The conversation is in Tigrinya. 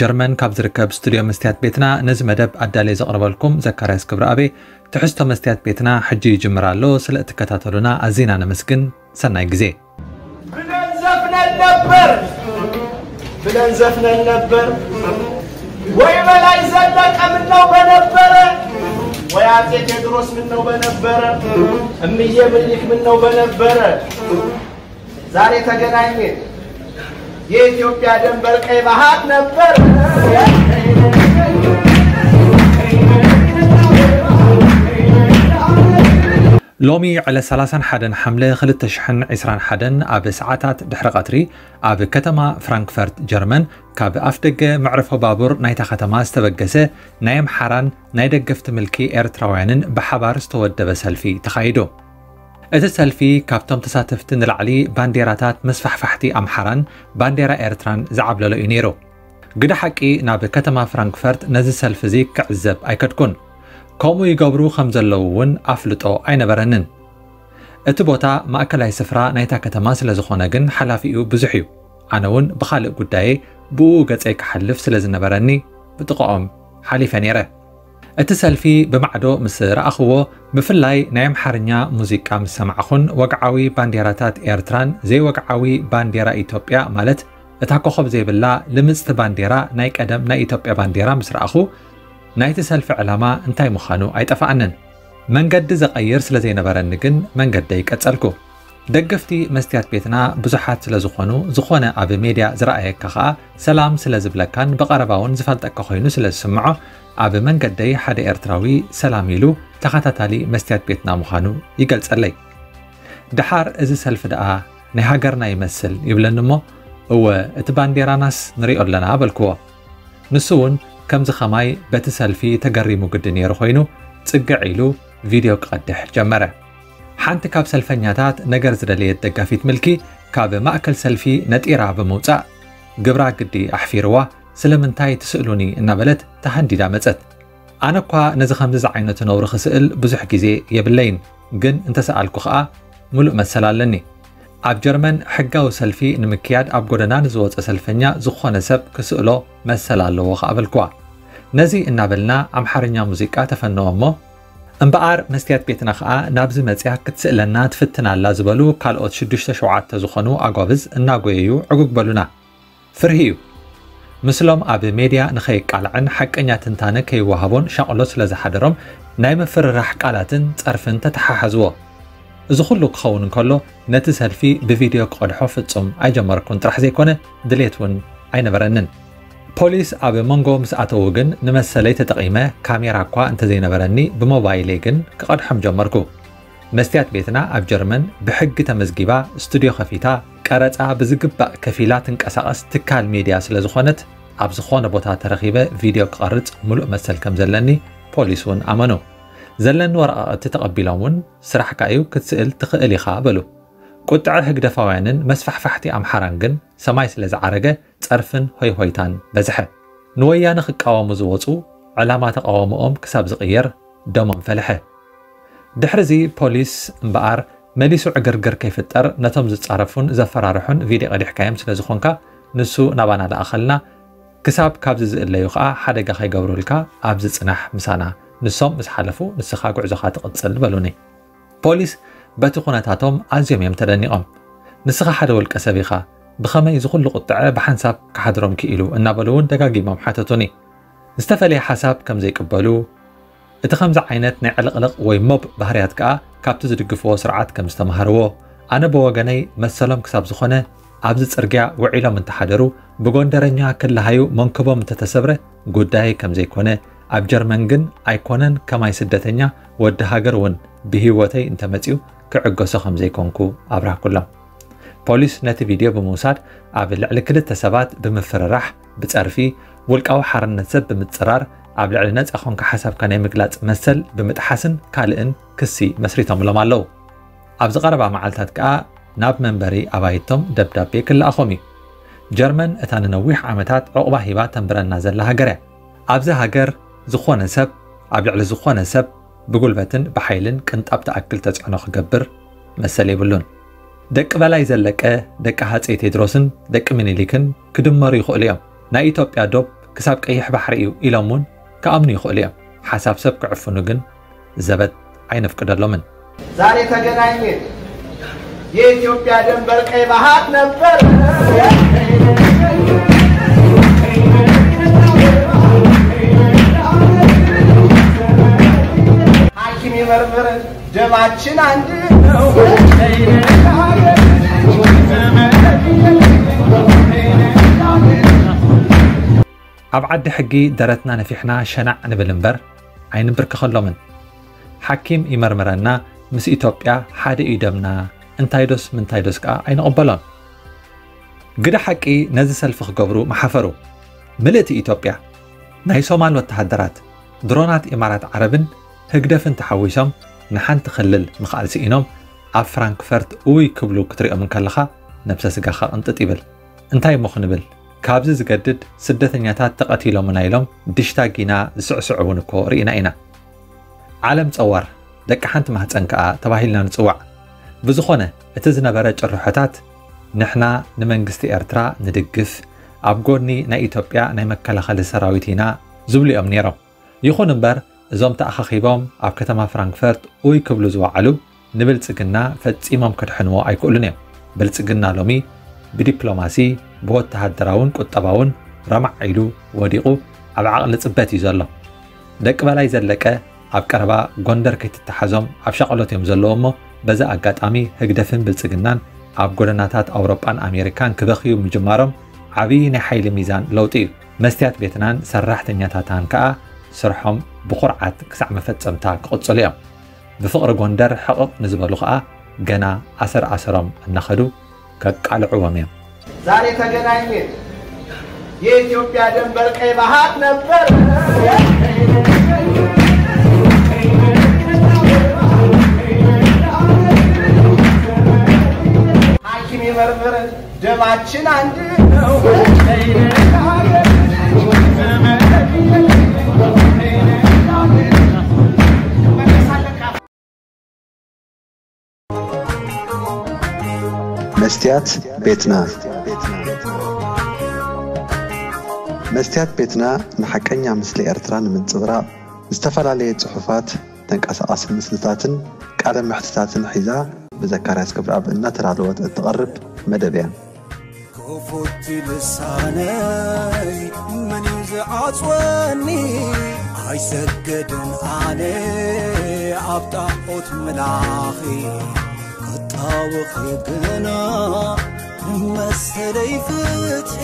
ጀርመን ካብ ዝርከብ ስቱድዮ መስትያት ቤትና ነዚ መደብ ኣዳልየ ዘቕርበልኩም ዘካርያስ ክብረኣቤ። ትሕዝቶ መስትያት ቤትና ሕጂ ይጅምር ኣሎ። ስለ እትከታተሉና ኣዚና ነመስግን። ሰናይ ግዜ። ብለን ዘፍነን ነበር፣ ብለን ዘፍነን ነበር። ወይ በላይ ዘለቀ ምነው በነበረ፣ ወይ አጼ ቴዎድሮስ ምነው በነበረ፣ እምዬ ምኒልክ ምነው በነበረ። ዛሬ ተገናኘን። የኢትዮጵያ ደንበር ቀይ ባህር ነበር። ሎሚ ዕለት ሰላሳን ሓደን ሓምለ ክልተ ሽሕን ዕስራን ሓደን ኣብ ሰዓታት ድሕሪ ቀትሪ ኣብ ከተማ ፍራንክፈርት ጀርመን ካብ ኣፍደገ መዕርፎ ባቡር ናይታ ከተማ ዝተበገሰ ናይ ኣምሓራን ናይ ደገፍቲ ምልኪ ኤርትራውያንን ብሓባር ዝተወደበ ሰልፊ ተኻይዱ። እቲ ሰልፊ ካብቶም ተሳተፍቲ ንላዕሊ ባንዴራታት መስፋሕፋሕቲ ኣምሓራን ባንዴራ ኤርትራን ዝዓብለሎ እዩ ነይሩ። ግደ ሓቂ ናብ ከተማ ፍራንክፈርት ነዚ ሰልፊ እዚ ክዕዘብ ኣይከድኩን። ከምኡ ይገብሩ ከም ዘለዉ እውን ኣፍልጦ ኣይነበረንን። እቲ ቦታ ማእከላይ ስፍራ ናይታ ከተማ ስለ ዝኾነ ግን ሓላፊኡ ብዙሕ እዩ። ኣነ እውን ብኻልእ ጉዳየይ ብኡ ገጸይ ክሓልፍ ስለ ዝነበረኒ ብጥቓኦም ሓሊፈ ነይረ። እቲ ሰልፊ ብማዕዶ ምስ ረኣኽዎ፣ ብፍላይ ናይ ኣምሓርኛ ሙዚቃ ምስ ሰማዕኹን ወግዓዊ ባንዴራታት ኤርትራን ዘይወግዓዊ ባንዴራ ኢትዮጵያ ማለት እታ ኮኾብ ዘይብላ ልምጽቲ ባንዴራ ናይ ቀደም ናይ ኢትዮጵያ ባንዴራ ምስ ረኣኹ፣ ናይቲ ሰልፊ ዕላማ እንታይ ምዃኑ ኣይጠፍኣንን። መንገዲ ዘቐይር ስለ ዘይነበረኒ ግን መንገደይ ቀጸልኩ። ደገፍቲ መስትያት ቤትና ብዙሓት ስለ ዝኾኑ፣ ዝኾነ ኣብ ሜድያ ዝረኣየካ ኸኣ ሰላም ስለ ዝብለካን ብቐረባ እውን ዝፈልጠካ ኮይኑ ስለ ዝስምዖ፣ ኣብ መንገደይ ሓደ ኤርትራዊ ሰላም ኢሉ ተኸታታሊ መስትያት ቤትና ምዃኑ ይገልጸለይ። ደሓር እዚ ሰልፊ ደኣ ናይ ሃገርና ይመስል ይብለኒ እሞ፣ እወ እቲ ባንዴራናስ ንሪኦ ኣለና በልክዎ። ንሱ እውን ከምዚ ኸማይ በቲ ሰልፊ ተገሪሙ ግዲ ነይሩ ኮይኑ ጽግዕ ኢሉ ቪድዮ ክቐድሕ ጀመረ። ሓንቲ ካብ ሰልፈኛታት ነገር ዝደለየት ደጋፊት ምልኪ ካብ ማእከል ሰልፊ ነጢራ ብምውጻእ ግብራ ግዲ ኣሕፊርዋ ስለምንታይ ትስእሉኒ እናበለት ተሃንዲዳ መጸት። ኣነ እኳ ነዚ ከምዚ ዝዓይነቱ ነውሪ ክስእል ብዙሕ ግዜ የብለይን፣ ግን እንተሰኣልኩ ኸኣ ምሉእ መሰል ኣለኒ። ኣብ ጀርመን ሕጋዊ ሰልፊ ንምክያድ ኣብ ጎደና ንዝወጸ ሰልፈኛ ዝኾነ ሰብ ክስእሎ መሰል ኣለዎ ኸኣ በልክዋ። ነዚ እናበልና ኣምሓርኛ ሙዚቃ ተፈነወ እሞ፣ እምበኣር መስትያት ቤትና ኸኣ ናብዚ መጽያ ክትስእለና ትፍትን ኣላ ዝበሉ ካልኦት ሽዱሽተ ሸውዓተ ዝኾኑ ኣጓብዝ እናጎየዩ ዕጉግ በሉና። ፍርሂ እዩ። ምስሎም ኣብ ሜድያ ንኸይቃላዕን ሓቀኛ ትንታነ ከይወሃቦን ሻቕሎት ስለ ዝሓደሮም ናይ ምፍርራሕ ቃላትን ጸርፍን ተተሓሓዝዎ። እዚ ኩሉ ክኸውን እንከሎ ነቲ ሰልፊ ብቪድዮ ክቐድሖ ፍጹም ኣይጀመርኩን ጥራሕ ዘይኮነ ድሌት እውን ኣይነበረንን። ፖሊስ ኣብ መንጎ ምስ ኣተዉ ግን ንመሰለይ ተጠቒመ ካሜራ እኳ እንተዘይነበረኒ ብሞባይለይ ግን ክቐድሖም ጀመርኩ። መስትያት ቤትና ኣብ ጀርመን ብሕጊ ተመዝጊባ ስቱድዮ ከፊታ ቀረጻ ብዝግባእ ከፊላ ትንቀሳቐስ ትካል ሚድያ ስለ ዝኾነት ኣብ ዝኾነ ቦታ ተረኺበ ቪድዮ ክቐርጽ ምሉእ መሰል ከም ዘለኒ ፖሊስ እውን ኣመኑ። ዘለኒ ወረቓቕቲ ተቐቢሎም እውን ስራሕካ እዩ ክትስእል ትኽእል ኢኻ በሉ። ቁጥዐ ህግደፋውያንን መስፋሕፋሕቲ ኣምሓራን ግን ሰማይ ስለ ዝዓረገ ጸርፍን ሆይሆይታን በዝሐ። ንወያነ ክቃወሙ ዝወጹ ዕላማ ተቓውሞኦም ክሳብ ዝቕየር ደሞም ፈልሐ። ድሕሪ እዚ ፖሊስ እምበኣር መሊሱ ዕግርግር ከይፍጠር ነቶም ዝጻረፉን ዘፈራርሑን ቪድዮ ቀዲሕካዮም ስለ ዝኾንካ ንሱ ናባና ለኣኸልና፣ ክሳብ ካብዚ ዝእለዩ ኸኣ ሓደጋ ከይገብሩልካ ኣብዚ ጽናሕ ምሳና፣ ንሶም ምስ ሓለፉ ንስኻ ጉዕዞኻ ትቕጽል በሉኒ። ፖሊስ በቲ ኩነታቶም ኣዝዮም እዮም ተደኒቖም። ንስኻ ሓደ ውልቀ ሰብ ኢኻ፣ ብኸመይ እዚ ኩሉ ቁጥዐ ብሓንሳብ ክሓድሮም ክኢሉ እናበሉ እውን ደጋጊሞም ሓተቱኒ። ዝተፈለየ ሓሳብ ከም ዘይቅበሉ፣ እቲ ከምዚ ዓይነት ናይ ዕልቕልቕ ወይ ሞብ ባህርያት ከኣ ካብቲ ዝድግፍዎ ስርዓት ከም ዝተማሃርዎ፣ ኣነ ብወገነይ መሰሎም ክሳብ ዝኾነ ኣብዚ ጽርግያ ውዒሎም እንተሓደሩ ብጎንደረኛ ክለሃዩ መንክቦም እንተተሰብረ ጉዳይ ከም ዘይኮነ፣ ኣብ ጀርመን ግን ኣይኮነን ከማይ ስደተኛ ወዲ ሃገር እውን ብህይወተይ እንተመጺኡ ክዕገሶ ከም ዘይኮንኩ ኣብራህኩሎም። ፖሊስ ነቲ ቪድዮ ብምውሳድ ኣብ ልዕሊ ክልተ ሰባት ብምፍርራሕ፣ ብጸርፊ፣ ውልቃዊ ሓርነት ሰብ ብምጽራር፣ ኣብ ልዕሊ ነጻ ኮንካ ሓሳብካ ናይ ምግላጽ መሰል ብምጥሓስን ካልእን ክሲ መስሪቶምሎም ኣለዉ። ኣብዚ ቀረባ መዓልታት ከኣ ናብ መንበሪ ኣባይቶም ደብዳቤ ክለኣኾም እዩ። ጀርመን እታ ንነዊሕ ዓመታት ዕቑባ ሂባ ተንብረና ዘላ ሃገር እያ። ኣብዚ ሃገር ዝኾነ ሰብ ኣብ ልዕሊ ዝኾነ ሰብ ብጉልበትን ብሓይልን ቅንጣብ ትኣክል ተጽዕኖ ክገብር መሰል የብሉን። ደቂ በላይ ዘለቀ፣ ደቂ ሃጸይ ቴድሮስን ደቂ ምኒልክን ክድመሩ ይኽእሉ እዮም። ናይ ኢትዮጵያ ዶብ ክሳብ ቀይሕ ባሕሪ እዩ ኢሎም እውን ክኣምኑ ይኽእሉ እዮም። ሓሳብ ሰብ ክዕፍኑ ግን ዘበት ኣይነፍቅደሎምን። ዛሬ ተገናኘን። የኢትዮጵያ ደንበር ቀይ ባህር ነበር። ሐኪም ይመርምር ደማችን አንድ ነው። ኣብ ዓዲ ሕጊ ደረትና ነፊሕና ሸናዕ ንብል እምበር ኣይንብርከኸሎምን። ሓኪም ይመርምረና፣ ምስ ኢትዮጵያ ሓደ እዩ ደምና፣ እንታይ ዶስ ምንታይ ዶስ ከኣ ኣይንቕበሎን። ግደ ሓቂ ነዚ ሰልፊ ክገብሩ መሓፈሩ። ምልእቲ ኢትዮጵያ ናይ ሶማል ወተሃደራት፣ ድሮናት ኢማራት ዓረብን ህግደፍን ተሓዊሶም ንሓንቲ ክልል ምኽኣል ስኢኖም ኣብ ፍራንክፈርት እውይ ክብሉ ክትሪኦም እንከለኻ ነብሰ ስጋኻ ቅንጥጥ ይብል። እንታይ እሞ ክንብል? ካብዚ ዝገድድ ስደተኛታት ተቐቲሎምና ኢሎም ድሽታ ጊና ዝስዕስዑ እውን እኮ ርኢና ኢና። ዓለም ጸዋር ደቂ ሓንቲ ማህጸን ከኣ ተባሂልና ንጽዋዕ። ብዝኾነ እቲ ዝነበረ ጭርሖታት ንሕና ንመንግስቲ ኤርትራ ንድግፍ፣ ኣብ ጎኒ ናይ ኢትዮጵያ ናይ መከላኸሊ ሰራዊት ኢና ዝብሉ እዮም ነይሮም። ይኹን እምበር እዞም ተኣኻኺቦም ኣብ ከተማ ፍራንክፈርት ኡይ ክብሉ ዝወዓሉ ንብልጽግና ፈጺሞም ከድሕንዎ ኣይክእሉን እዮም። ብልጽግና ሎሚ ብዲፕሎማሲ ብወተሃደራውን ቁጠባውን ረማዕ ኢሉ ወዲቑ ኣብ ዓቕሊ ጽበት እዩ ዘሎ። ደቂ በላይ ዘለቀ ኣብ ቀረባ ጎንደር ከይትተሓዞም ኣብ ሻቕሎት እዮም ዘለዉ እሞ በዚ ኣጋጣሚ ህግደፍን ብልጽግናን ኣብ ጎደናታት ኣውሮጳን ኣሜሪካን ክበኽዩ ምጅማሮም ዓብዪ ናይ ሓይሊ ሚዛን ለውጢ እዩ። መስትያት ቤትናን ሰራሕተኛታታን ከኣ ስርሖም ብኹርዓት ክሳዕ መፈጸምታ ክቕጽሉ እዮም። ብፍቕሪ ጎንደር ሕቕቕ ንዝበሉ ከኣ ገና ኣሰር ኣሰሮም እናኸዱ ከቃልዕዎም እዮም። ዛሬ ተገናኘን። የኢትዮጵያ ደንበር ቀይ ባህር ነበር። ሐኪም ይመርምር ደማችን አንድ ነው። መስትያት ቤትና። መስትያት ቤትና ንሓቀኛ ምስሊ ኤርትራ ንምንጽብራቕ ዝተፈላለየ ጽሑፋት፣ ተንቀሳቓሲ ምስልታትን ቃለ መሕትታትን ሒዛ ብዘካርያስ ክብረኣብ እናተዳለወት እትቐርብ መደብ እያ። ክፉት ልሳነይ መን እዩ ዝዓጽወኒ? ኣይሰገድን ኣነ ኣብ ጣዖት ምላኺ ክጣወኺ ግና መሰለይ ፍትሒ